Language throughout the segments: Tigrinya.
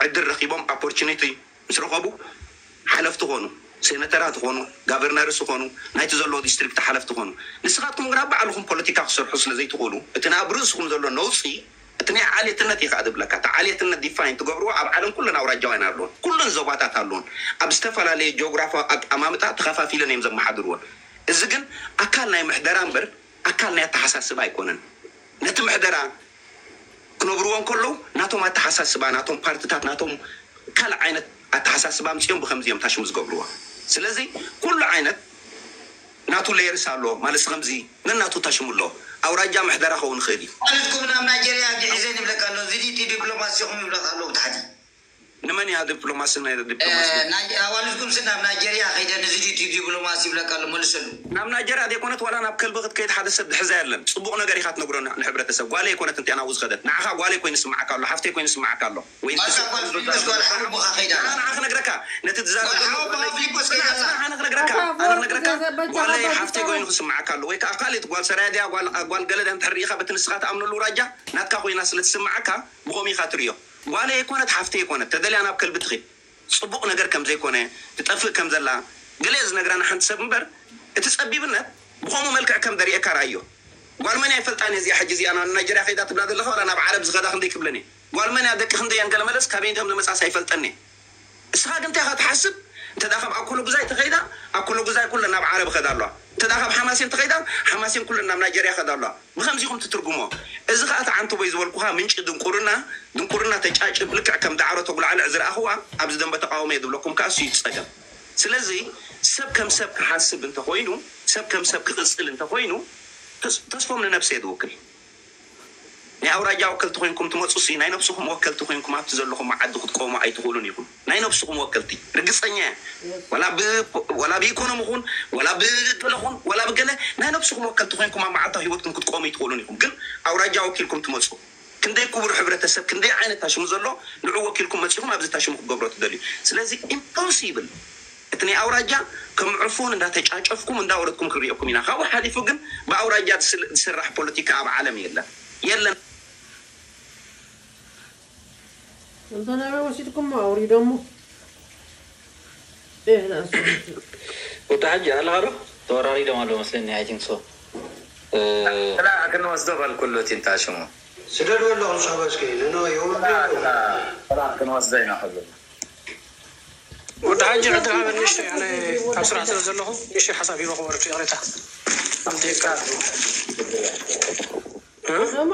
ዕድል ረኺቦም፣ ኦፖርቹኒቲ ምስ ረኸቡ ሓለፍቲ ኾኑ፣ ሴነተራት ኾኑ፣ ጋቨርነርስ ኾኑ፣ ናይቲ ዘለዎ ዲስትሪክት ሓለፍቲ ኾኑ። ንስኻትኩም ግና ባዕልኹም ፖለቲካ ክሰርሑ ስለ ዘይትኽእሉ፣ እቲ ኣብ ርእስኹም ዘሎ ነውፂ፣ እቲ ናይ ዓሌትነት እዩ ከዓ ዝብለካ። እቲ ዓሌትነት ዲፋይን ትገብርዎ ኣብ ዓለም ኩለን ኣውራጃውያን ኣለውን፣ ኩለን ዞባታት ኣለውን። ኣብ ዝተፈላለየ ጂኦግራፊ ኣቀማምጣ ተኸፋፊለን እዮም ዘመሓድርዎን። እዚ ግን ኣካል ናይ ምሕደራ እምበር ኣካል ናይ ኣተሓሳስባ ኣይኮነን። ነቲ ምሕደራ ክነብርዎ እንከለዉ ናቶም ኣተሓሳስባ፣ ናቶም ፓርትታት፣ ናቶም ካልእ ዓይነት ኣተሓሳስባ ኣምፅኦም ብከምዚ እዮም ታሽሙ ዝገብርዎ። ስለዚ ኩሉ ዓይነት ናቱ ሌየርስ ኣሎ ማለት ከምዚ ነናቱ ታሽሙ ኣሎ። ኣውራጃ ምሕደራ ክኸውን ይኽእል እዩ። ኣዋልድኩም ናብ ናይጀርያ ግዒዘን ይብለካ ኣሎ። እዚ ድዩ እቲ ዲፕሎማሲኹም ይብለካ ኣሎ ብታሕቲ። ንመን እያ ዲፕሎማሲ? ናይ ዲፕሎማሲ ናይ ኣዋልድኩም ስ ናብ ናይጀርያ ከይደ ንዚ ድዩ እቲ ዲፕሎማሲ ይብለካ ኣሎ። መልሰሉ። ናብ ናይጀርያ ዘይኮነት ዋላ ናብ ከልቢ ክትከይድ ሓደ ሰብ ድሕዛ የለን። ፅቡቕ ነገር ኢኻ ትነግሮ ን- ንሕብረተሰብ። ጓለይ ኣይኮነት እንቲያ ናብኡ ዝኸደት። ንዓኻ ጓለይ ኮይኑ ይስምዓካ ኣሎ፣ ሓፍተይ ኮይኑ ይስምዓካ ኣሎ። ወይ ንስኻ ጓል ፊሊጶስ ጓል ሓወቦኻ ከይዳ ኣላ። ኣነ ንዓኻ ክነግረካ፣ ነቲ ትዛረብ ጓል ዘለኻ ሓወቦኻ ጓለይ ፊሊጶስ ከይዳ ኣላ። ኣነ ክነግረካ፣ ኣታ ኣነ ክነግረካ፣ ኣፎወርቂ ዘበጃ ጓለይ ሓፍተይ ኮይኑ ክስምዓካ ኣሎ። ወይ ከዓ ካልእ ጓል ሰራያ ድያ፣ ጓል፣ ጓል ገለ ድያ እንድሕር ርኢኻ፣ በቲ ንስኻ ትኣምነሉ ራጃ ናትካ ኮይና ስለ ትስምዓካ፣ ብኸምኡ ኢኻ ትርእዮ። ጓለይ ኣይኮነት፣ ሓፍተይ ኣይኮነት፣ ተደልያ ናብ ከልቢ ትኺድ። ጽቡቕ ነገር ከም ዘይኮነ፣ ትጠፍእ ከም ዘላ፣ ገለ ዝነግራና ሓንቲ ሰብ እምበር፣ እቲ ጸቢብነት ብኸምኡ መልክዕ ከም ደርእየካ ረኣዮ። ጓል መን እያ ይፈልጣን እየ እዚኣ፣ ሕጂ እዚኣ ናብ ናይጀርያ ከይዳ ትብላ ዘለኻ፣ ዋላ ናብ ዓረብ ዝኸዳ ክንደይ ክብለን እየ። ጓል መን እያ፣ ደቂ ክንደይ እየን፣ ገለ መለስ ካበይ እንተም ዝመጻስ ኣይፈልጠን እየ። እስኻ ግን እንታይ ኢኻ ትሓስብ? እንተ ደኣ ካብ ኣኮሎ ጉዛይ ተኸይዳ፣ ኣኮሎ ጉዛይ ኩለን ናብ ዓረብ ይኸዳ ኣለዋ። እንተ ደኣ ካብ ሓማሴን ተኸይዳ፣ ሓማሴን ኩለን ናብ ናይጀርያ ይኸዳ ኣለዋ። ብኸምዚ ኢኹም ትትርጉሞ። እዚ ኸኣ እቲ ዓንተቦይ ዝበልኩኻ ምንጪ ድንቁርና፣ ድንቁርና ተጫጭብ ልክዕ ከም ዳዕሮ ተጉላዕልዕ ዝረኣኽዋ ኣብዚ ደንበ ተቃውሞ እየ ዝብለኩም ከኣ እሱ እዩ እቲ ጸገም። ስለዚ ሰብ ከም ሰብ ክሓስብ እንተኾይኑ፣ ሰብ ከም ሰብ ክቕጽል እንተኾይኑ፣ ተስ-፣ ተስፎም ንነብሰ እየ ዝውክል። ናይ ኣውራጃ ወከልቲ ኮይንኩም ትመጹ ሲ ናይ ነብስኹም ወከልቲ ኮይንኩም ኣብቲ ዘለኹም ዓዲ ክትቆሙ ኣይትኽእሉን ኢኹም። ናይ ነብስኹም ወከልቲ ርግጸኛ እየ። ወላ ብ-፣ ወላ ብኢኮኖሚ ኹን፣ ወላ ብገለ ኹን፣ ወላ ብገለ ናይ ነብስኹም ወከልቲ ኮይንኩም ኣብ መዓልታዊ ህይወትኩም ክትቆሙ ኣይትኽእሉን ኢኹም። ግን ኣውራጃ ወኪልኩም ትመጹ። ክንደይ ክቡር ሕብረተሰብ፣ ክንደይ ዓይነት ታሽሙ ዘሎ ንዑ ወኪልኩም መጺኹም ኣብዚ ታሽሙ ክትገብሮ ትደልዩ። ስለዚ ኢምፖሲብል። እቲ ናይ ኣውራጃ ከም ዕፉን እንዳተጫጨፍኩም እንዳወረድኩም ክንሪኦኩም ኢና። ካብኡ ሓሊፉ ግን ብኣውራጃ ዝስል-፣ ዝስራሕ ፖለቲካ ኣብ ዓለም የለን። የለን። እንተ ናበይ ወሲድኩሞ ኣውሪዶሞ። ኤህ፣ ንኣስ-፣ ወዲ ሓጂ ኣለኻ ዶ? ተወራሪዶም ኣለዉ መስለኒ፣ I think so። እ፣ ጥላ ክንወስዶ በልኩሉ እቲ እንታ ሽሙ። ስደድዎ ኣለኹም ሶሕባ እስኪ፣ ንኖ የውርዱ። ጥላ ክንወስዶ ኢና ከብሉ። ወዲ ሓጂ ዕድል ሃበኒ፣ እሺ፣ ኣነ ኣብ ስራሕ ስለ ዘለኹ፣ እሺ፣ ሓሳብ ሂበ ክወርድ፣ ይቕሬታ። ኣብ ደቂቃ። እ? ደማ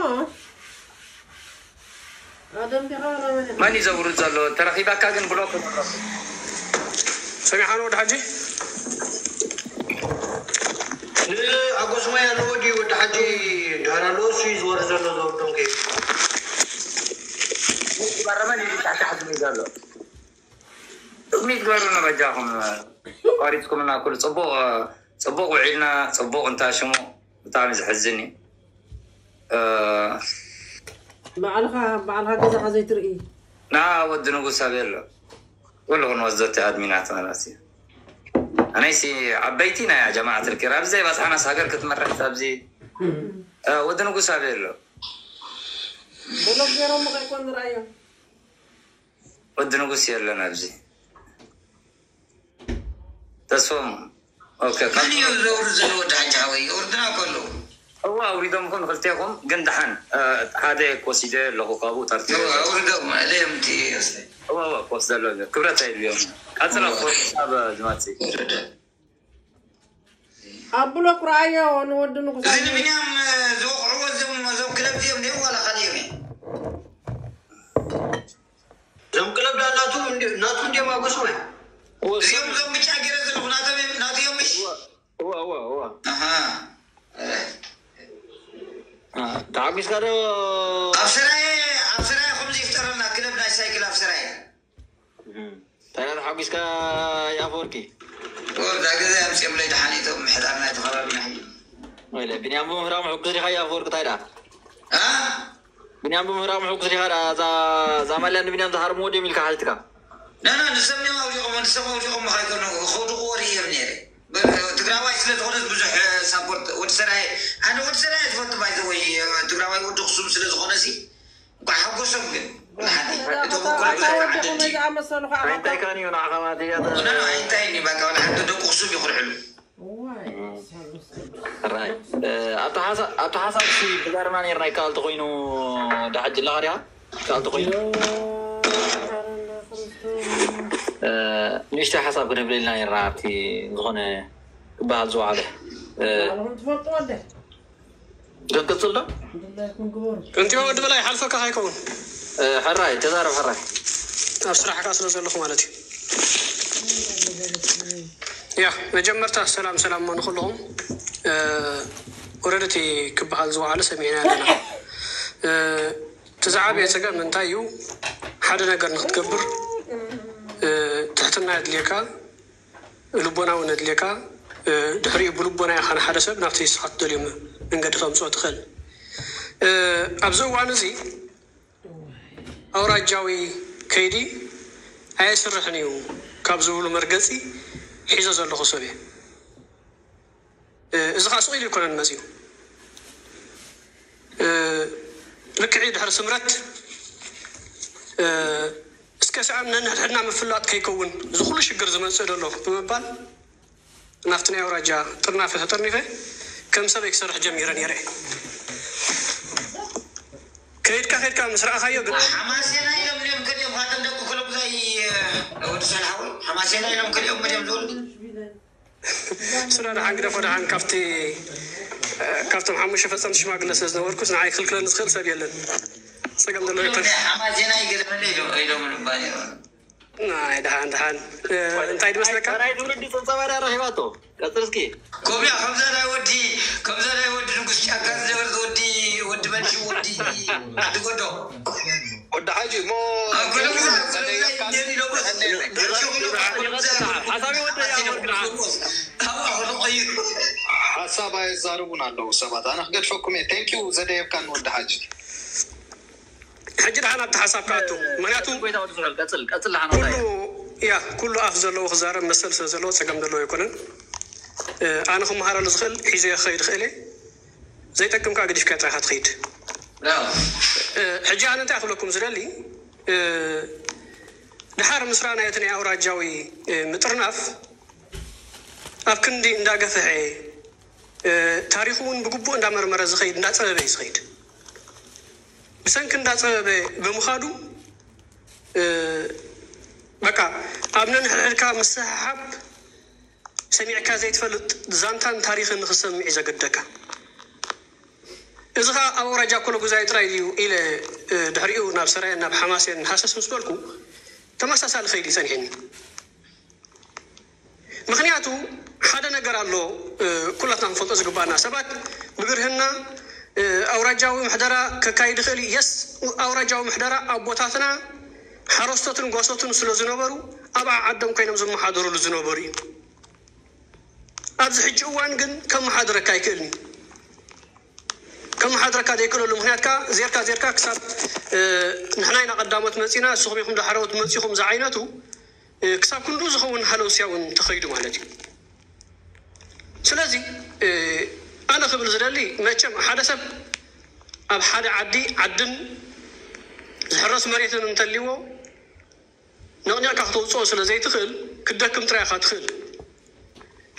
ኣደም ዲኻ ወላ መን ኢኻ? መን እዩ ዘውርድ ዘሎ? ተረኺባካ ግን ብሎክ። ሰሚዕኻኒ ወዲ ሓጂ? ንኣጎስማይ ኣለዎ ድዩ ወዲ ሓጂ? ድሃር ኣለዎ፣ እሱ እዩ ዝወርድ ዘሎ፣ ዘውርዶም ከይዱ። በረመን እዩ ታሕቲ ሓዝሚ ዘሎ። ቅድሚት ግበሩና በጃኹም። ኣቋሪፅኩምና ኩሉ። ፅቡቕ፣ ፅቡቕ ውዒልና፣ ፅቡቕ እንታ ሽሙ። ብጣዕሚ ዘሕዝን እዩ። እ፣ ባዕልኻ፣ ባዕልኻ ገዛኻ ዘይትርኢ። ና ወዲ ንጉስ ኣበይ ኣሎ? ኩሉ ክንወስዶ እቲ ኣድሚናት ማለት እዩ። ኣነይሲ ዓበይቲ ናይ ጀማዓት ልኪር ኣብዚ ዘይበፅሓናስ ሃገር ክትመርሕ ኣብዚ፣ እ፣ ወዲ ንጉስ ኣበይ ኣሎ? ብሎክ ገይሮም ከይኮን ንርኣዮም። ወዲ ንጉስ የለን ኣብዚ። ተስፎም፣ ኦኬ፣ ካብ መን እዩ ዘውርድ ዘሎ ወዲ ሓጂ ሓወይ? የውርድና እኮ ኣለዉ። እዋ፣ ኣውሪዶም እኮ ንክልቴኹም፣ ግን ደሓን፣ እ፣ ሓደ ኮሲደ ኣለኹ ካብኡ ጠርጢረ። እዋ፣ ኣውርዶም፣ ኣለዮም እቲ ወስደ። እዋ፣ እዋ፣ ኮስ ዘሎ ክብረት ኣይድልዮም። ቀጽላ እዋ። ኮስ ኣብ ዝመጽእ። ወረደ። ኣብ ብሎክ ረኣዮ ንወዲ ንጉስ እዚ ኣየ። ንብንያም ዝወቕዕዎ እዞም፣ እዞም ክለብ እዮም ድዮም ዋላ ካልእ እዮም? እዞም ክለብ ዳ ናቱ እንዲ-፣ ናቱ እንዲዮም ኣጎስማይ። እዚኦም እዞም ብጫ ገይረ ዘለኹ ናቶም እዮም፣ ናቱ እዮም ምሽ? እዋ፣ እዋ፣ እዋ። ኣሃ። እ። አ፣ ተሓጒስካ ዶ? ኣብ ሰራየ፣ ኣብ ሰራየ ከምዚ ይፍጠረልና ክለብ ናይ ሳይክል ኣብ ሰራየ። እም። እንታይ ደኣ ተሓጒስካ የኣፈወርቂ? እዛ ገዛ ኣምጺኦምለይ ደሓን እቶም ምሕዳር ናይቲ ከባቢ ናይ ወይለ፣ ቢንያም ብምህራሙ ሕጉስ ዲኻ የኣፈወርቂ? እንታይ ደኣ? እ? ቢንያም ብምህራሙ ሕጉስ ዲኻ ደኣ? እዛ፣ እዛ ማልያ ንቢንያም ዝሃርምዎ ድዮም ኢልካ ሓቲትካ? ና፣ ና፣ ንሶም እዮም ኣውዲቖሞ፣ ንሶም ኣውዲቖሞ ከይኮኑ፣ ከውድቕዎ ርእዮም ነይረ። ብ-፣ ትግራዋይ ስለ ዝኾነስ ብዙሕ ሳፖርት ወዲ ሰራየ፣ ኣነ ወዲ ሰራየ ዝፈቱ ባይ ዘ ወይ፣ ትግራዋይ ወዲ ኣኽሱም ስለ ዝኾነሲ፣ እንኳዕ ሓጎሶም ግን። እቶም እኮ ኣታ ወዲኹም ዝኣመሰሉ ከዓ እንታይ ካን እዩ ንዓኻ ማለት እያ? ኖ፣ ኖ፣ እንታይ እዩ በቃ፣ ወላ ሓንቲ ደቁ ክሱብ ይኹልዕሉ። እዋይ፣ ሳሉስ ቅዱስ። ራይ። እ፣ ኣብቲ ሓሳ-፣ ኣብቲ ሓሳብ ሲ ብዛርና ነርና ይከኣል ተኾይኑ፣ ዳሓጅ ኣለኻ ዲኻ? ይከኣል ተኾይኑ። እ፣ ንእሽተይ ሓሳብ ክነብለልና ነርና ኣብቲ ዝኾነ ክበሃል ዝወዓለ። እ፣ ባዕልኹም ትፈልጥዎ እንደ። ክንቅጽል ዶ? እንድላይ ኩን ግበሩ። እንቲዮ ወዲ በላይ ሓልፈካ ከይከውን። እ፣ ሕራይ፣ ተዛረብ ሕራይ። ኣብ ስራሕካ ስለ ዘለኹ ማለት እዩ። ያ፣ መጀመርታ ሰላም ሰላም ንኹልኹም። እ፣ ወረደቲ ክበሃል ዝወዓለ ሰሚዕና ኣለና። እ፣ እቲ ዝዓበየ ጸገም እንታይ እዩ? ሓደ ነገር ንክትገብር፣ እ፣ ትሕትና የድልየካ፣ ልቦና እውን የድልየካ። እ፣ ድሕሪኡ ብልቦና ኢኻ ንሓደ ሰብ ናብቲ ንስኻ ትደልዮ መ-፣ መንገዲ ከምጽኦ ትኽእል። እ፣ ኣብዚ እዋን እዚ ኣውራጃዊ ከይዲ ኣየስርሕን እዩ ካብ ዝብሉ መርገጺ ሒዞ ዘለኹ ሰብ እየ። እ፣ እዚ ኸዓ ስቕ ኢሉ ኣይኮነን መጺኡ። እ፣ ልክዕ ድሕሪ ስምረት፣ እ፣ እስከ ሰኣን ነንሕድሕድና ምፍላጥ ከይከውን እዚ ኩሉ ሽግር ዝመጽእ ዘሎ ብምባል ናብቲ ናይ ኣውራጃ ጥርናፈ ተጠርኒፈ ከም ሰበይ ክሰርሕ ጀሚረ ነይረ። ከይድካ ከይድካ ምስ ረኣኻዮ ግን ሓማሴና ኢሎም ድዮም ከድዮም፣ ካተን ደቂ ኮለጉዛይ፣ ወዲ ሰልሓዊ ሓማሴና ኢሎም ከድዮም፣ መድዮም ዝወልዱ። ስራ ደሓን ግደፎ ደሓን። ካብቲ፣ ካብቶም ሓሙሽተ ፈጸምቲ ሽማግለ ስለ ዝነበርኩስ ንዓይ ክልክለኒ ዝኽእል ሰብ የለን። ጸገም ዘሎ ይኮን። ሓማሴና ይገለመለ ኢሎም፣ ኢሎም ምባል እዮም። ናይ ደሓን ደሓን። እንታይ ድመስለካ? ናይ ትውልዲ ጸብጻባ ድያ ረኺባቶ? ቀጽል እስኪ። ከምያ፣ ከምዛ ናይ ወዲ፣ ከምዛ ናይ ወዲ ንጉስ ጫካ ዝነበረት ወዲ፣ ወዲ መንሹ፣ ወዲ ዓዲ ጎዶ። ወዲ ሓጂ እሞ ኣብ ጎዶ ግዛ፣ ኣብ ጎዶ ግዛ ይደሊ ዶ? ሓሳብ ይወደይ፣ ኣብ ጎዶ ግዛ። ካብኣ ከሎ ቀይሩ። ሓሳብ ኣይዛረቡን ኣለዉ ሰባት። ኣነ ክገድፈኩም እየ። Thank you ዘደየብካኒ ወዲ ሓጂ። ሕጂ ደሓን ኣብቲ ሓሳብ ክኣቱ። ምኽንያቱ ጎይታ ወዲ እስራኤል፣ ቀጽል፣ ቀጽል ደሓን ኩሉ፣ ወዳይ። ያ፣ ኩሉ ኣፍ ዘለዎ ክዛረብ መሰል ስለ ዘለዎ ጸገም ዘለዎ ኣይኮነን። እ፣ ኣነ ክመሃረሉ ዝኽእል ሒዘዮ ክኸይድ ይኽእል እየ። ዘይጠቅም ከኣ ገዲፍካዮ ጥራይ ኢኻ ትኸይድ። ያ። እ፣ ሕጂ ኣነ እንታይ ክብለኩም ዝደሊ፣ እ፣ ድሓር ምስራ ናይ እቲ ናይ ኣውራጃዊ፣ እ፣ ምጥርናፍ ኣብ ክንዲ እንዳገፍሐ፣ እ፣ ታሪኹ እውን ብግቡእ እንዳመርመረ ዝኸይድ፣ እንዳጸበበ እዩ ዝኸይድ። ብሰንኪ እንዳጸበበ ብምኻዱ፣ እ፣ በቃ ኣብ ነንሕድሕድካ ምስሕሓብ ሰሚዕካ ዘይትፈልጥ ዛንታን ታሪኽን ንኽሰምዕ እዩ ዘገደካ። እዚ ኸኣ ኣብ ኣውራጃ ኮለጉዛይ ጥራይ ድዩ ኢለ፣ እ፣ ድሕሪኡ ናብ ሰራየን ናብ ሓማሴን ሃሰስ ምስ በልኩ ተመሳሳሊ ከይዲ እዩ ጸኒሕኒ። ምኽንያቱ ሓደ ነገር ኣሎ፣ እ፣ ኩላትና ክንፈልጦ ዝግባኣና። ሰባት ብግርህና፣ እ፣ ኣውራጃዊ ምሕደራ ከካይድ ይኽእል እዩ። የስ፣ ኣውራጃዊ ምሕደራ ኣቦታትና ሓረስቶትን ጓሶትን ስለ ዝነበሩ ኣብ ዓዓዶም ኮይኖም ዝመሓደሩሉ ዝነበሩ እዩ። ኣብዚ ሕጂ እዋን ግን ከመሓድረካ ኣይክእልን እዩ። ከመሓድረካ ዘይክእለሉ ምኽንያት ከኣ ዜርካ ዜርካ ክሳብ፣ እ፣ ንሕና ኢና ቀዳሞት መጺና፣ ንስኹም ኢኹም ዳሕረዎት መጺኹም ዝዓይነቱ፣ እ፣ ክሳብ ክንድኡ ዝኸውን ሃለውስያ እውን ተኸይዱ ማለት እዩ። ስለዚ፣ እ፣ ኣነ ክብል ዝደሊ መቸም ሓደ ሰብ ኣብ ሓደ ዓዲ፣ ዓድን ዝሕረስ መሬትን እንተልይዎ ነቕኒቕካ ክተውፅኦ ስለ ዘይትኽእል ክትደክም ጥራይ ኢኻ ትኽእል።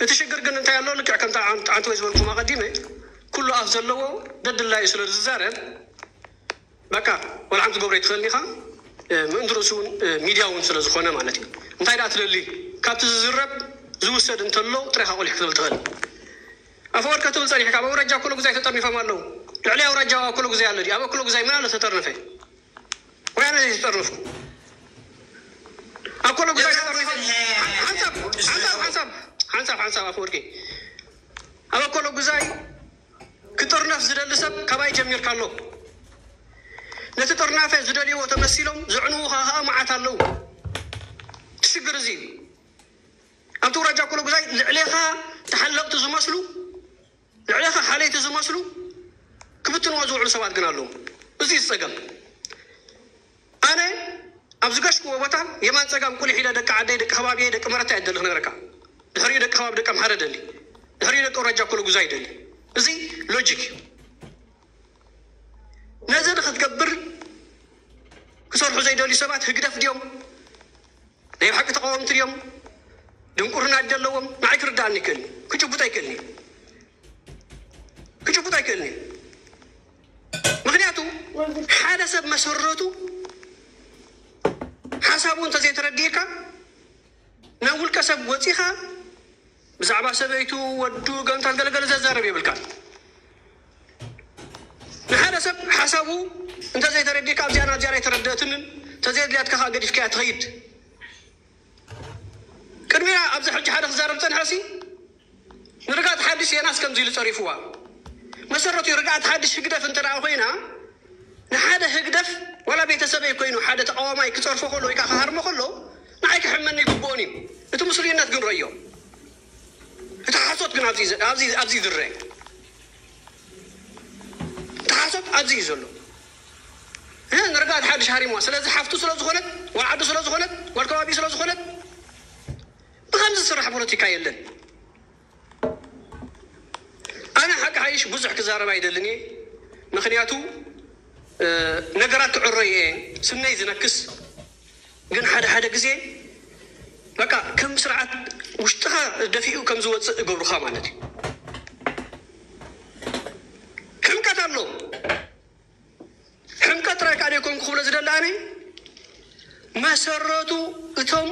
እቲ ሽግር ግን እንታይ ኣሎ? ልክዕ ከምታ ዓን-፣ ዓንተወይ ዝበልኩም ኣቐዲመ፣ ኩሉ ኣፍ ዘለዎ ደድላዩ ስለ ዝዛረብ፣ በቃ፣ ወላ ሓንቲ ትገብሮ ኣይትኽእልን ኢኻ። እ፣ ምእንቲ ርእሱ እውን፣ እ፣ ሚድያ እውን ስለ ዝኾነ ማለት እዩ። እንታይ ደኣ ትደሊ? ካብቲ ዝዝረብ ዝውሰድ እንተሎ ጥራይ ኢኻ ቆሊሕ ክትብል ትኽእል። ኣፈወርቂ ክትብል ጸኒሕካ፣ ኣብ ኣውራጃ ኣኮለጉዛይ ተጠርኒፎም ኣለዉ። ልዕሊ ኣውራጃ ኣኮለጉዛይ ኣሎ ድዩ? ኣብ ኣኮለጉዛይ መን ኣሎ ተጠርነፈ? ወያነ እዩ ዝጠርንፉ። ኣኮለጉዛይ ተጠርኒፎም። ሓንሳብ፣ ሓንሳብ፣ ሓንሳብ፣ ሓንሳብ፣ ሓንሳብ ኣፈወርቂ። ኣብ ኣኮለጉዛይ ክጥርነፍ ዝደሊ ሰብ ካባይ ጀሚርካ ኣሎ። ነቲ ጥርናፈ ዝደልይዎ ተመሲሎም ዘዕንዉኻ ኸኣ መዓት ኣለዉ። እቲ ሽግር እዚ እዩ። ኣብቲ ኣውራጃ ኣኮለጉዛይ ልዕሌኻ ተሓለቕቲ ዝመስሉ፣ ልዕሌኻ ሓለይቲ ዝመስሉ ክብትንዎ ዝውዕሉ ሰባት ግን ኣለዉ። እዚ እዩ ዝጸገም። ኣነ ኣብ ዝገሽክዎ ቦታ የማን ጸጋም ቁሊሕ ኢለ ደቂ ዓደይ፣ ደቂ ከባቢየይ፣ ደቂ መረታ እየ ዝደሊ ክነግረካ። ድሕሪኡ ደቂ ከባቢ ደቂ ኣምሓረ ደሊ። ድሕሪኡ ደቂ ኣውራጃ ኣኮለጉዛይ ደሊ። እዚ ሎጂክ እዩ። ነዚ ንኽትገብር ክሰርሑ ዘይደልዩ ሰባት ህግደፍ ድዮም? ናይ ብሓቂ ተቃወምቲ ድዮም? ድንቁርና ዘለዎም ንዓይ ክርዳእኒ ይክእልኒ፣ ክጭቡጥ ኣይክእልኒ፣ ክጭቡጥ ኣይክእልኒ። ምክንያቱ ሓደ ሰብ መሰረቱ ሓሳቡ እንተዘይተረዲእካ ናብ ውልቀ ሰብ ወፂኻ ብዛዕባ ሰበይቱ፣ ወዱ፣ ገንታት ገለገለ ዘዛረብ የብልካን። ንሓደ ሰብ ሓሳቡ እንተዘይተረዲእካ ኣብዚኣ ናብዚኣ ኣይተረደእትንን፣ ተዘየድልያትካ ከዓ ገዲፍካያ ትኸይድ። ቅድሚያ ኣብዚ ሕጂ ሓደ ክዛረብ ፀንሐሲ ንርጋት ሓድሽ የናስ ከምዚ ኢሉ ፀሪፍዋ። መሰረቱ ርግኣት ሓድሽ ህግደፍ እንተ ደኣ ኮይና ንሓደ ህግደፍ ዋላ ቤተሰበይ ኮይኑ ሓደ ተቃዋማይ ክፀርፎ ከሎ ወይ ከዓ ክሃርሞ ከሎ ንዓይ ክሕመኒ ይግብኦን እዩ። እቲ ምስሉይነት ግን ረዮ። እቲ ሓሶት ግን ኣብዚ ኣብዚ ኣብዚ ዝረ እቲ ሓሶት ኣብዚ እዩ ዘሎ። ንርግኣት ሓድሽ ሃሪምዋ ስለዚ ሓፍቱ ስለዝኾነት ጓል ዓዱ ስለዝኾነት ጓል ከባቢ ስለዝኾነት ብከምዚ ዝስራሕ ፖለቲካ የለን። ኣነ ሓቂ ሓይሽ ብዙሕ ክዛረብ ኣይደልን እየ። ምክንያቱ ነገራት ክዕረዩ እየ ስነይ ዝነክስ። ግን ሓደ ሓደ ግዜ በቃ ከም ስርዓት ውሽጥኻ ደፊኡ ከም ዝወፅእ እገብሩኻ ማለት እዩ። ሕምቀት ኣሎ። ሕምቀት ጥራይ ከዓ ደይኮንኩ ክብሎ ዝደሊ ኣነ መሰረቱ እቶም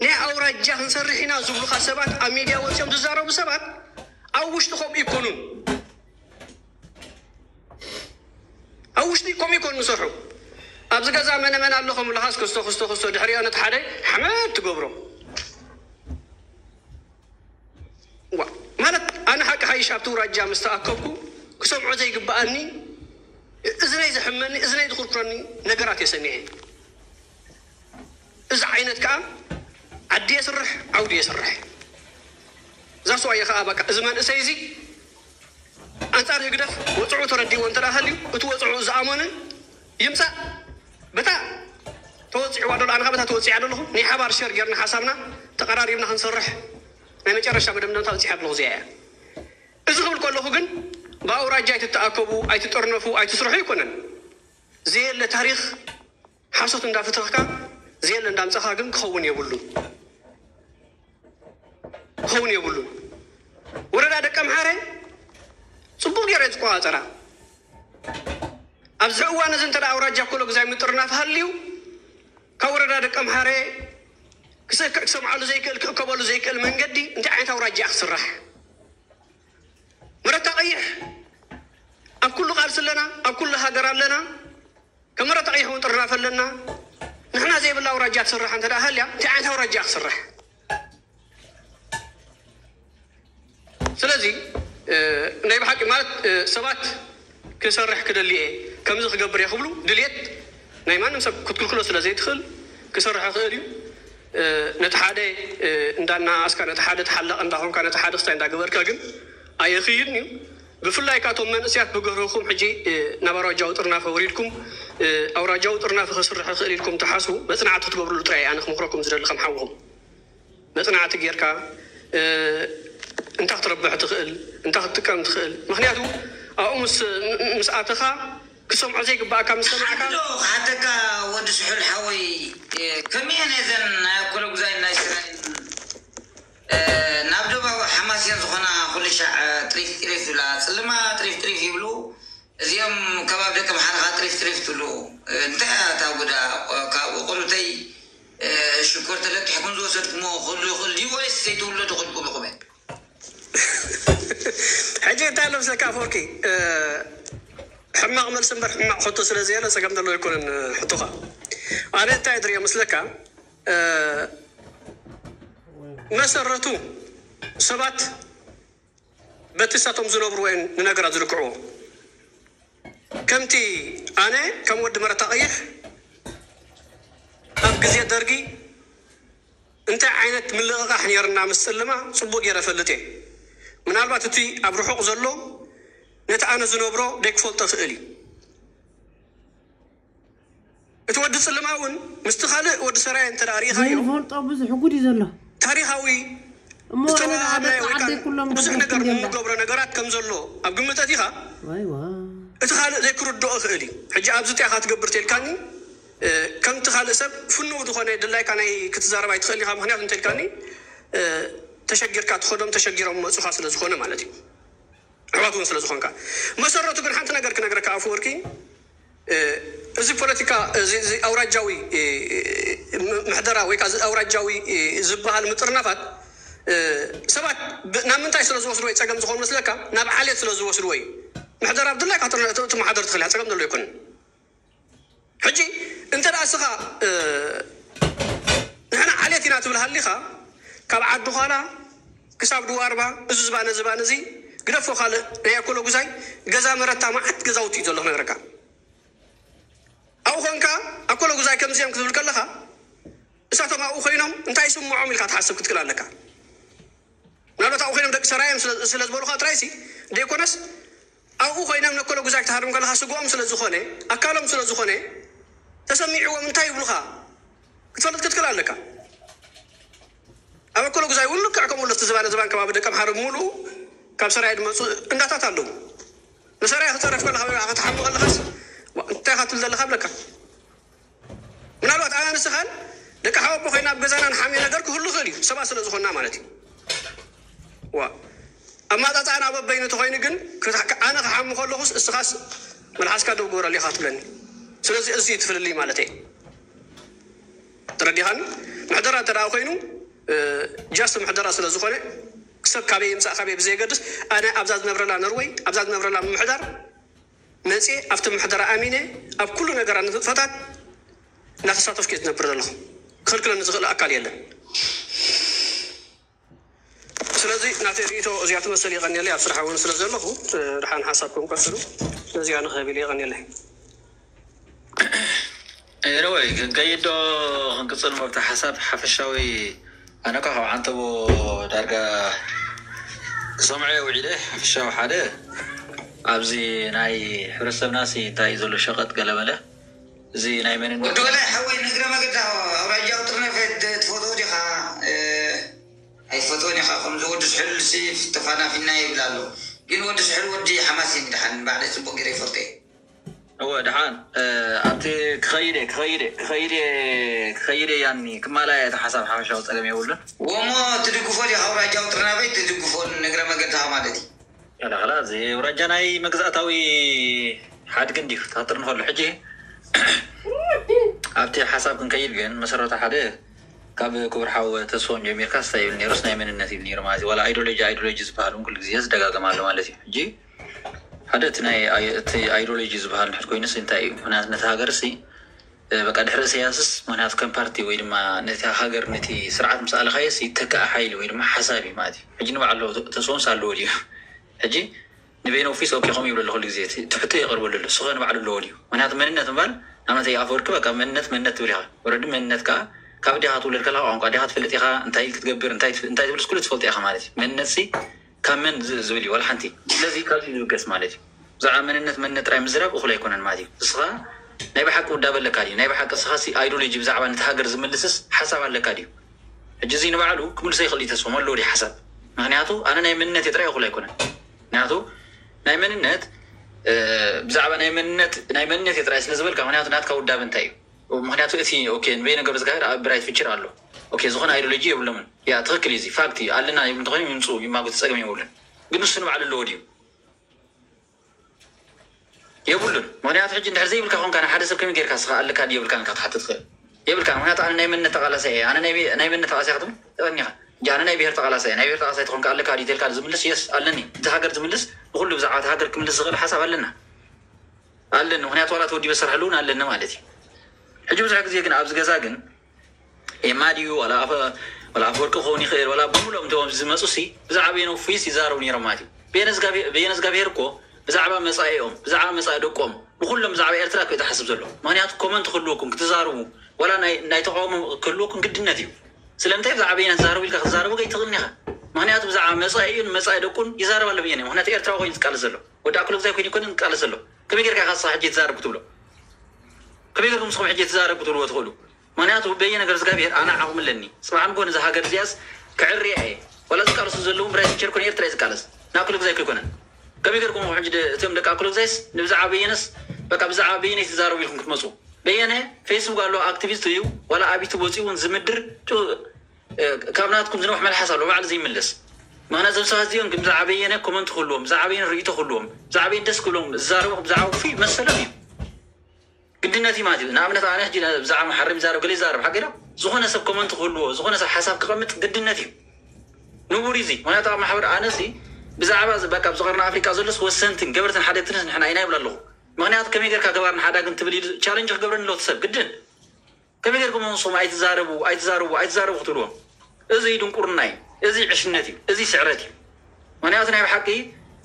ናይ ኣውራጃ ክንሰርሕ ኢና ዝብሉካ ሰባት ኣብ ሚድያ ወፂኦም ዝዛረቡ ሰባት ኣብ ውሽጢ ከምኡ ይኮኑን ኣብ ውሽጢ ከምኡ ይኮኑ ዝሰርሑ ኣብዚ ገዛ መነ መን ኣሎ ከምብለካስ ክስቶ ክስቶ ክስቶ ድሕሪኦ ነቲ ሓደ ሓመድ ትገብሮ ማለት ኣነ ሓቂ ሓይሽ ኣብቲ ውራጃ ምስ ተኣከብኩ ክሰምዖ ዘይግብኣኒ እዝነይ ዘሕመኒ እዝነይ ዝኩርኩረኒ ነገራት እየ ሰሚዐ። እዚ ዓይነት ከዓ ዓዲ የስርሕ ዓውዲ የስርሕ። እዛ ሰዋየ ከዓ በቃ እዚ መንእሰይ እዚ ኣንፃር ህግደፍ ወፅዑ ተረዲእዎ እንተ ሃልዩ እቲ ወፅዑ ዝኣመነ ይምፃእ በታ ተወፂዕዋ ደሎ ኣነ በታ ተወፂዓ ደለኹ ናይ ሓባር ሸር ጌርና ሓሳብና ተቐራሪብና ክንሰርሕ ናይ መጨረሻ መደምደምታ በፂሓ ኣለኹ እዚኣ እያ። እዚ ክብል ከለኹ ግን ብኣውራጃ ኣይትተኣከቡ ኣይትጠርነፉ ኣይትስርሑ ኣይኮነን። ዘየለ ታሪኽ ሓሶት እንዳፍተኽካ ዘየለ እንዳምፀኻ ግን ክኸውን የብሉን። ክኸውን የብሉን። ወረዳ ደቀምሓረ ፅቡቕ ገይረ ዝቆፃፀራ ኣብዚ እዋን እዚ እንተ ኣውራጃ ኮሎ ግዛይ ምጥርናፍ ሃልዩ ካብ ወረዳ ደቀምሓረ ክሰምዓሉ ዘይክእል ክእከበሉ ዘይክእል መንገዲ እንታይ ዓይነት ኣውራጃ እያ ክስራሕ? መረታ ቀይሕ ኣብ ኩሉ ቃልሲ ኣለና፣ ኣብ ኩሉ ሃገር ኣለና። ከም መረታ ቀይሕ እውን ጥርናፍ ኣለና። ንሕና ዘይብላ ኣውራጃ ትስራሕ እንተ ሃልያ እንታይ ዓይነት ኣውራጃ ክስራሕ? ስለዚ ናይ ብሓቂ ማለት ሰባት ክሰርሕ ክደሊ እየ ከምዚ ክገብር እየ ክብሉ ድልየት ናይ ማንም ሰብ ክትክልክሎ ስለ ዘይትኽእል ክሰርሕ ክእል እዩ። ነቲ ሓደ እንዳናኣስካ ነቲ ሓደ ተሓላቕ እንዳኾንካ ነቲ ሓደ ክስታይ እንዳገበርካ ግን ኣየኽይድን እዩ። ብፍላይ ካቶም መንእስያት ብገርህኹም ሕጂ ናብ ኣውራጃዊ ጥርናፈ ወሪድኩም ኣውራጃዊ ጥርናፈ ክስርሕ ክእል ኢልኩም ትሓስቡ መፅናዕቲ ክትገብርሉ ጥራይ ኣነ ክምክረኩም ዝደሊ ከም ሓውኹም መፅናዕቲ ጌርካ እንታይ ክትረብሕ ትኽእል እንታይ ክትጥቀም ትኽእል ምክንያቱ ኣብኡ ምስ ኣተኻ ክሰምዖ ዘይግባኣካ ምስ ሰማዕካ። ሓንቲ ዶ ክሓተካ ወዲ ስሑል ሓወይ፣ ከመየን እዘን ናይ ኣኮለጉዛይን ናይ ስራይን ናብ ደባዊ ሓማስየን ዝኾና ኩሉ ሻዕ ጥሪፍ ጥሪፍ ዝብላ ጽልማ ጥሪፍ ጥሪፍ ይብሉ። እዚኦም ከባቢ ደቂ ኣምሓራ ኸዓ ጥሪፍ ጥሪፍ ትብሉ። እንታይ እያ እታ ጉዳ? ካብ ቆልዑተይ ሽኮር ተለቂሕኩም ዝወሰድኩምዎ ክህሉ ይኽእል ድዩ ወይስ ዘይትውለዱ ኮንኩም ኢኹም? ሕጂ እንታይ ኣሎ ምስለካ ኣፈወርቂ ሕማቕ መልሲ እምበር ሕማቕ ሕቶ ስለ ዘየለ ጸገም ዘለዎ ኣይኮነን ሕቶኻ ኣነ እንታይ ድሪኦ ምስለካ መሰረቱ ሰባት በቲ ሳቶም ዝነብርዎ እዮም ንነገራት ዝልክዕዎ ከምቲ ኣነ ከም ወዲ መረታ ቀይሕ ኣብ ግዜ ደርጊ እንታይ ዓይነት ምልቕቓሕ ነይርና ምስ ጽልማ ጽቡቕ ገይረ እፈልጥ እየ። ምናልባት እቲ ኣብ ርሑቕ ዘሎ ነቲ ኣነ ዝነብሮ ደይክፈልጦ እኽእል እዩ። እቲ ወዲ ጽልማ እውን ምስቲ ካልእ ወዲ ሰራየ እንተ ደኣ ርኢኻዮ ዘይንፈልጦ ብዙሕ ጉድ እዩ ዘሎ። ታሪኻዊ እሞ ዝተወሃበ ነዛ ወይ ዓዲ ከዓ ኩሎም ብዙሕ ደገፍቲ ነገር እንዲዮም ዳ? እንገብሮ ነገራት ከም ዘሎ ኣብ ግምት ኣእቲኻ ዋይ ዋይ እቲ ካልእ ዘይክርድኦ ይኽእል እዩ። ሕጂ ኣብዚ እንታይ ኢኻ ትገብር ተልካኒ ከምቲ ካልእ ሰብ ፍኑው ዝኾነ ድላይካ ናይ ክትዛረብ ኣይትኽእል ኢኻ። ምክንያቱ እንተልካኒ ተሸጊርካ ትኸዶም ተሸጊሮም መፁኻ ስለ ዝኾነ ማለት እዩ። ኣሕዋት እውን ስለ ዝኾንካ። መሰረቱ ግን ሓንቲ ነገር ክነግረካ ኣፈወርቂ፣ እዚ ፖለቲካ፣ እዚ ኣውራጃዊ ምሕደራ ወይ ከዓ ኣውራጃዊ ዝበሃል ምጥርናፋት ሰባት ናብ ምንታይ ስለ ዝወስድዎ እዩ ፀገም ዝኾኑ መስለካ? ናብ ዓሌት ስለ ዝወስድዎ እዩ። ምሕደራ ብድላይካ ትመሓደር ትኽእል እያ፣ ፀገም ዘሎ ኣይኮነን። ሕጂ እንተ ደኣ እስኻ ንሕና ዓሌት ኢና ትብል ሃሊኻ፣ ካብ ዓዲ ዃላ ክሳብ ድዋርባ፣ እዚ ዝባነ ዝባነ እዚ ግደፎ። ካልእ ናይ ኣኮሎ ጉዛይ ገዛ መረታ መዓት ገዛውቲ እዩ ዘሎ ክነግረካ። ኣብኡ ኾንካ ኣኮሎ ጉዛይ ከምዚኦም ክትብል ከለኻ እሳቶም ኣብኡ ኮይኖም እንታይ ይስምዖም ኢልካ ትሓስብ ክትክእል ኣለካ። ምናልባት ኣብኡ ኮይኖም ደቂ ሰራዮም ስለ ዝበሉኻ ጥራይሲ ደይኮነስ ኣብኡ ኮይኖም ነኮሎ ጉዛይ ክትሃርም ከለኻ ስግኦም ስለ ዝኾነ ኣካሎም ስለ ዝኾነ ተሰሚዕዎም እንታይ ይብሉኻ ክትፈልጥ ክትክእል ኣለካ። ኣብ ኣኮሎ ጉዛይ እውን ልክዕ ከምኡ ለፍቲ ዝባነ ዝባን ከባቢ ደቀምሓረ ሙሉ ካብ ሰራየ ዝመፁ እንዳታት ኣለዉ። ንሰራየ ክፀረፍ ከለካ ወይ ከዓ ክትሓሙ ከለካስ እንታይ ኢካ ትብል ዘለካ ብለካ። ምናልባት ኣነ ንስኻን ደቂ ሓወቦ ኮይና ኣብ ገዛና ንሓምዮ ነገር ክህሉ ይኽእል እዩ፣ ሰባት ስለ ዝኾንና ማለት እዩ። ዋ ኣማጣጣና በበይኑ ተኾይኑ ግን ኣነ ክሓሙ ከለኹስ እስኻስ መልሓስካ ደው ግበረሉ ኢኻ ትብለኒ። ስለዚ እዚ እዩ ትፍልልይ ማለት እየ። ተረዲኻኒ? ምሕደራ እንተ ደኣ ኮይኑ ጃስት ምሕደራ ስለ ዝኾነ ሰብ ካበይ ይምፃእ ካበይ ብዘየገድስ ኣነ ኣብዛ ዝነብረላ ኖርወይ ኣብዛ ዝነብረላ ምምሕዳር መፅየ ኣብቲ ምሕደራ ኣሚነ ኣብ ኩሉ ነገራ ንጥፈታት እናተሳተፍኩ እየ ዝነብር ዘለኹ። ክኽልክለኒ ዝኽእል ኣካል የለን። ስለዚ ናተይ ርእይቶ እዚኣ ትመስል የቐንየለይ ኣብ ስራሕ እውን ስለ ዘለኹ ድሓን ሓሳብኩም ቀፅሉ። ነዚኣ ንኽህብ ኢለ የቐንየለይ። ኤረወይ ክንከይድ ዶ ክንቅፅል መብቲ ሓሳብ ሓፈሻዊ ኣነ ኳ ካብ ዓንተቦ ዳርጋ ክሰምዖ እየ ውዒለ ሓፈሻዊ ሓደ ኣብዚ ናይ ሕብረተሰብና ሲ እንታይ እዩ ዘሎ ሸቐጥ ገለመለ እዚ ናይ መንነት ወዲ ወላይ ሓወይ ንእግረ መገዳ ኣውራጃዊ ጥርነፈ ትፈትዎ ዲኻ? ኣይፈትዎን ኢኻ ከምዚ ወዲ ስሕል ሲ ተፋናፊና ይብል ኣሎ ግን ወዲ ስሕል ወዲ ሓማሴን ድሓን ባዕለይ ፅቡቅ ገይረ ይፈልጦ እየ። እወ ደሓን ኣብቲ ክኸይድ እየ ክኸይድ እየ ክኸይድ እየ ክኸይድ እየ ያኒ ክማላያ እቲ ሓሳብ ሓፈሻዊ ፀገም የብሉን። ወሞ ትድግፎ ዲኻ ኣውራጃዊ ጥርናፈ ትድግፎ ንእግረ መገድኻ ማለት እዩ። ከላ ከላ እዚ ኣውራጃ ናይ መግዛእታዊ ሓድጊ እንድዩ ታጥር ንኸሎ ሕጂ ኣብቲ ሓሳብ ክንከይድ ግን መሰረቱ ሓደ ካብ ክቡር ሓው ተስፎም ጀሚርካ ስታይ ይብል ነይሩስ ናይ መንነት ይብል ነይሩ ማለት እዩ። ዋላ ኣይዶሎጂ ኣይዶሎጂ ዝበሃል እውን ኩሉ ግዜ ዝደጋገም ኣሎ ማለት እዩ። ሕጂ ሓደ እቲ ናይ ኣይ- እቲ ኣይዶሎጂ ዝበሃል ንሕድ ኮይኑስ እንታይ እዩ? ምክንያቱ ነቲ ሃገር ሲ በቃ ድሕሪ ኢሳያስስ ምክንያቱ ከም ፓርቲ ወይ ድማ ነቲ ሃገር ነቲ ስርዓት ምስ ኣለኻየስ ይተክኣ ሓይሊ ወይ ድማ ሓሳብ እዩ ማለት እዩ። ሕጂ ንባዕሉ ተስፎምስ ኣለዎ ድዩ? ሕጂ ንቤኖ ፊስ ኦኬ ከምኡ ይብለሉ ኩሉ ግዜ እቲ ሕቶ የቕርበሉ ኣሎ። ስኸ ንባዕሉ ኣለዎ ድዩ? ምክንያቱ መንነት ምባል ንኣብነት ኣፈወርቂ በቃ መንነት መንነት ትብል ኢኻ። ወረዲ መንነት ከዓ ካብ ዲኻ ትውለድ ከለኻ ቋንቋ ዲኻ ትፈልጥ ኢኻ እንታይ ክትገብር እንታይ እንታይ ትብልስ ኩሉ ትፈልጦ ኢኻ ማለት እዩ። መንነት ሲ ካብ መን ዝ- ዝብል እዩ ዋላ ሓንቲ። ስለዚ ካብዚ ዝብገስ ማለት እዩ። ብዛዕባ መንነት መንነት ጥራይ ምዝራብ እኹል ኣይኮነን ማለት እዩ። ንስኻ ናይ ብሓቂ ውዳበ ኣለካ ድዩ? ናይ ብሓቂ ንስኻ ሲ ኣይዶሎጂ ብዛዕባ ነቲ ሃገር ዝምልስስ ሓሳብ ኣለካ ድዩ? ሕጂ እዚ ንባዕሉ ክምልሶ ይኽእል እዩ ተስፎም ኣለዎ ድዩ ሓሳብ? ምክንያቱ ኣነ ናይ መንነት ጥራይ እኹል ኣይኮነን። ምክንያቱ ናይ መንነት ብዛዕባ ናይ መንነት ናይ መንነት ጥራይ ስለ ዝበልካ ምክንያቱ ናትካ ውዳበ እንታይ እዩ? ምክንያቱ እቲ ኦኬ ንበይነ ገብረዝጋብሔር ኣብ ብራይት ፊቸር ኣሎ። ኦኬ ዝኾነ ኣይዶሎጂ የብሎምን። ያ ትኽክል እዩ፣ እዚ ፋክት እዩ። ኣለና ይብሉ እንተኾይኖም ይምፅኡ ይማጎቱ ፀገም የብሉን። ግን ንሱ ንባዕሉ ኣለዎ ድዩ? የብሉን። ምክንያቱ ሕጂ እንድሕር ዘይብልካ ኮንካ ንሓደ ሰብ ከመይ ጌርካ ስኻ ኣለካ ድዩ የብልካን ኢካ ክትሓትት ትኽእል። የብልካን። ምክንያቱ ኣነ ናይ መንነት ተቓላሳይ እየ። ኣነ ናይ ናይ መንነት ተቓላሳይ ክትብል ትቐኒኻ። ሕጂ ኣነ ናይ ብሄር ተቓላሳይ እየ። ናይ ብሄር ተቓላሳይ ተኾንካ ኣለካ ድዩ ተልካ ዝምልስ የስ ኣለኒ። እቲ ሃገር ዝምልስ ንኹሉ ብዛዕባ እቲ ሃገር ክምልስ ዝኽእል ሓሳብ ኣለና ኣለኒ። ምክንያቱ ዋላ ተወዲበ ዝሰርሐሉ እውን ኣለኒ ማለት እዩ። ሕጂ ብዙሕ ግዜ ግን ኣብዚ ገዛ ግን ኤማ ድዩ ዋላ ኣፈ ዋላ ኣፈወርቂ ክኸውን ይኽእል ዋላ ብምሎም እቶም ዝመፁ ሲ ብዛዕባ ቤኖ ፊስ ይዛረቡ ነይሮም ማለት እዩ። በየነ ዝጋብሄር እኮ ብዛዕባ መፃኢኦም ብዛዕባ መፃኢ ደቆም ብኩሎም ብዛዕባ ኤርትራ እኮ እዩ ዝሓስብ ዘሎ። ምክንያቱ ኮመንት ክህልወኩም ክትዛረቡ ዋላ ናይ ተቃውሞ ክህልወኩም ግድነት እዩ። ስለምንታይ ብዛዕባ በየነ ትዛረቡ ኢልካ ክትዛረቡ ከይትኽእልን ኢኻ። ምክንያቱ ብዛዕባ መፃኢኡን መፃኢ ደቁን ይዛረብ ኣሎ በየነ። ምክንያቱ ኤርትራዊ ኮይኑ ዝቃለስ ዘሎ ወዲ ኣክሎ ግዛይ ኮይኑ ይኮነ ዝቃለስ ዘሎ። ከመይ ጌርካ ኢኻ ንስኻ ሕጂ ትዛረብ ክትብሎ? ከመይ ጌርኩም ንስኹም ሕጂ ትዛረብ ክትብልዎ ትኽእሉ? ምክንያቱ በየነ ገብረዝጋብሔር ኣነ ዓቕሚ ኣለኒ። ጽባሕ ንግሆ ነዛ ሃገር እዚኣስ ክዕርያ እየ። ዋላ ዝቃለሱ ዘለዉ ብራይ ቲቸር ኮነ ኤርትራ እዩ ዝቃለስ። ንኣክሎ ግዛይ ከይኮነ። ከመይ ጌርኩም ኢኹም ሕጂ ደ- እቶም ደቂ ኣክሎ ግዛይስ ንብዛዕባ በየነስ በቃ ብዛዕባ በየነ ትዛረቡ ኢልኩም ክትመጹ? በየነ ፌስቡክ ኣሎ፣ ኣክቲቪስት እዩ። ዋላ ኣብ ዩቱብ ወፂኡ እውን ዝምድር ካብ ናትኩም ዝነውሕ መልሓስ ኣሎ ባዕሉ ዘይምለስ። ምክንያት ዘም ሰባት እዚኦም ግን ብዛዕባ በየነ ኮመንት ክህልዎም፣ ብዛዕባ በየነ ርእይቶ ክህልዎም፣ ብዛዕባ በየነ ደስ ክብሎም ዝዛረቡ ብዛዕባ ክፉ መሰሎም እዩ። ግድነት እዩ ማለት እዩ። ንኣብነት ኣነ ሕጂ ብዛዕባ መሓረም ይዛረብ ገለ ይዛረብ ሓቂ ዶ? ዝኾነ ሰብ ኮመንት ክህልዎ፣ ዝኾነ ሰብ ሓሳብ ክቐምጥ ግድነት እዩ። ንቡር እዩ እዚ። ምክንያቱ ኣብ ማሕበር ኣነሲ ብዛዕባ በቃ ኣብዚ ቀርኒ ኣፍሪቃ ዘሎስ ወሰንትን ገበርትን ሓደግትንስ ንሕና ኢና ይብል ኣለኹ። ምክንያቱ ከመይ ጌርካ ገባርን ሓዳግን ትብል ኢሉ ቻለንጅ ክገብረኒ ኣሎ እቲ ሰብ ግድን። ከመይ ጌርኩም ንስኹም ኣይትዛረቡ ኣይትዛረቡ ኣይትዛረቡ ክትብልዎም? እዚ ድንቁርና እዩ። እዚ ዕሽነት እዩ። እዚ ስዕረት እዩ። ምክንያቱ ናይ ብሓቂ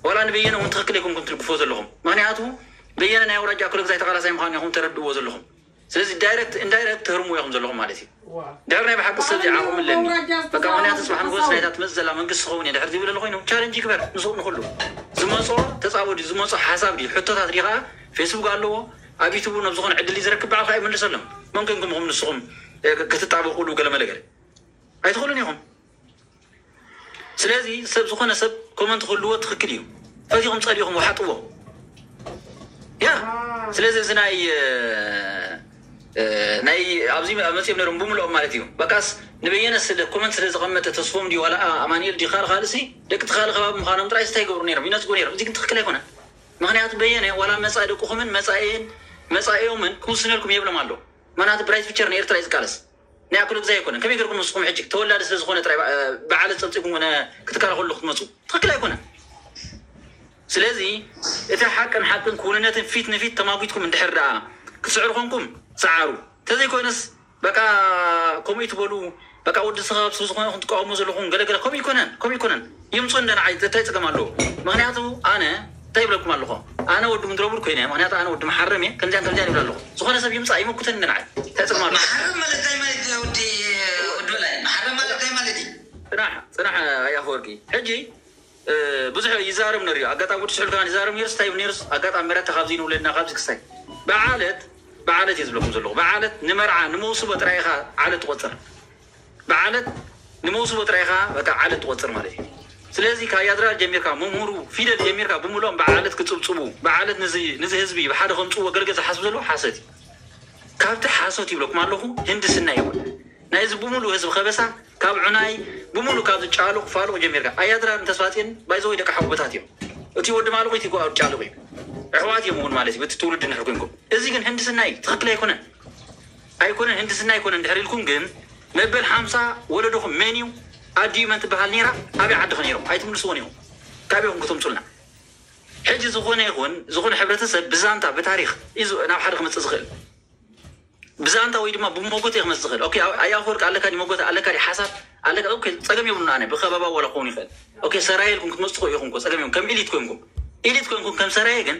ዋላ ንበየነ እውን ትኽክል ኣይኮንኩም ትድግፍዎ ዘለኹም። ምክንያቱ በየነ ናይ ኣውራጃ ክፍለ ግዛይ ተቃላሳይ ምዃኑ ኢኹም ተረድእዎ ዘለኹም። ስለዚ ዳይረክት ኢንዳይረክት ትህርሙ ኢኹም ዘለኹም ማለት እዩ። ድሕሪ ናይ ብሓቂ ሰብ ዓቕሚ ኣለኒ በቃ ምክንያቱ ጽባሕ ንጎስ ናይታ ትመጽእ ዘላ መንግስቲ ክኸውን እየ ድሕሪ ዝብል ኮይኑ ቻለንጅ ይግበር። ንስኹም ንኩሉ ዝመጾ ተጻቦ ድዩ ዝመጾ ሓሳብ ድዩ ሕቶታት ድዩ ከዓ ፌስቡክ ኣለዎ ኣብ ዩቱቡ ናብ ዝኾነ ዕድል እዩ ዝረክብ ባዕልካ ይመልሰሎም። መን ኮንኩም ኢኹም ንስኹም ክትጣበቁሉ ገለ መለ ገለ ኣይትኽእሉን ኢኹም። ስለዚ ሰብ ዝኾነ ሰብ ኮመንት ክህልዎ ትኽክል እዩ። ፈቲኹም ጸሊኹም ወሓጥዎ ያ ስለዚ እዚ ናይ ናይ ኣብዚ መፅኦም ነሮም ብምልኦም ማለት እዩ። በቃስ ንበየነ ስለ ኮመንት ስለ ዝቐመጠ ተስፎም ድዩ ዋላ ኣማኒኤል ድዩ ካልእ ካልእ ሲ ደቂ ትኻል ከባቢ ምዃኖም ጥራይ ስታይ ይገብሩ ነሮም ይነፅጉ ነሮም። እዚ ግን ትኽክል ኣይኮነን። ምክንያቱ በየነ ዋላ መፃኢ ደቅኹምን መፃኢን መፃኢኦምን ክውስነልኩም የብሎም ኣሎ። ምክንያቱ ብራይት ፊቸር ንኤርትራ እዩ ዝቃለስ። ናይ ኣክሉ ግዜ ኣይኮነን። ከመይ ገርኩም ንስኹም ሕጂ ተወላዲ ስለ ዝኾነ ጥራይ በዓል ፀብፂኩም ነ ክትካል ከሉ ክትመፁ ትኽክል ኣይኮነን። ስለዚ እቲ ሓቅን ሓቅን ክውንነትን ፊት ንፊት ተማጒትኩም እንድሕር ደኣ ክትስዕሩ ኮንኩም ሰዓሩ። ተዘይኮይነስ በቃ ከምኡ ትበሉ በቃ ወዲ ስኻብ ስለ ዝኾነ ኢኹም ትቃወሙ ዘለኹም ገለገለ ከምኡ ይኮነን ከምኡ ይኮነን። ይምፁ እንደ ንዓይ እንታይ ፀገም ኣለዎ? ምክንያቱ ኣነ እንታይ ይብለኩም ኣለኹ? ኣነ ወዲ ምድረቡር ኮይነ ምክንያቱ ኣነ ወዲ መሓረም እየ ከምዚያን ከምዚያን ይብል ኣለኹ። ዝኾነ ሰብ ይምፃእ ይመኩተን እንደ ንዓይ እንታይ ፀገም ኣለዎ? መሓረም ማለት እንታይ ማለት እዩ? ወዲ ወዲ በላይ መሓረም ማለት እንታይ ማለት እዩ? ፅናሕ ፅናሕ ኣያፈወርቂ ሕጂ ብዙሕ ይዛረብ ነሩ ኣጋጣሚ ወዲ ስሑል ከማን ይዛረብ ነሩስ እንታይ ይብል ነሩስ ኣጋጣሚ መረታ ካብዚ ንውለድና ካብዚ ክስታይ ብዓለት ብዓለት እየ ዝብለኩም ዘለኹ። ብዓለት ንመርዓ ንመውስቦ ጥራይ ኢኻ ዓለት ትቆፅር። ብዓለት ንመውስቦ ጥራይ ኢኻ በቃ ዓለት ትቆፅር ማለት እዩ። ስለዚ ካብ ያድራር ጀሚርካ መምህሩ ፊደል ጀሚርካ ብምልኦም ብዓለት ክፅብፅቡ ብዓለት ንዚ ንዚ ህዝቢ ብሓደ ከምፅዎ ገለገለ ዝሓስብ ዘለዎ ሓሰት እዩ። ካብቲ ሓሶት ይብለኩም ኣለኹ ህንድስና ይኹን ናይዚ ብምሉእ ህዝቢ ከበሳ ካብ ዑናይ ብምሉእ ካብዚ ጫሉቕ ፋሉቕ ጀሚርካ ኣያድራርን ተስፋፅን ባይዘወይ ደቂ ሓውቦታት እዮም። እቲ ወዲ ማልቑ እቲ ጓ ጫሉቕ እዩ። ኣሕዋት እዮም እውን ማለት እዩ በቲ ትውልዲ ንሕር ኮንኩም። እዚ ግን ህንድስና እዩ ትኽክል ኣይኮነን። ኣይኮነን ህንድስና ኣይኮነን ድሕር ኢልኩም ግን መበል ሓምሳ ወለዶኹም መን እዩ ኣዲዩ መን ትበሃል ነይራ ኣበይ ዓድኸ ነይሮም ኣይትምልስዎን ኢኹም። ካበይኹም ክተምፁልና ሕጂ ዝኾነ ይኹን ዝኾነ ሕብረተሰብ ብዛንታ ብታሪክ እዩ ናብ ሓደ ክመፅእ ዝኽእል። ብዛንታ ወይ ድማ ብሞጎተ ክመፅእ ዝኽእል ኣያ ኣፈወርቂ ኣለካ ዲ ሞጎተ ኣለካ ዲ ሓሳብ ኣለካ ኦኬ ፀገም የብሉን ኣነ ብከበባ ወላ ክኸውን ይኽእል። ኦኬ ሰራየ ኢልኩም ክትመፁ ትኽእሉ ኢኹም እኮ ፀገም የብሉን ከም ኢሊት ኮይንኩም ኢሊት ኮይንኩም ከም ሰራየ ግን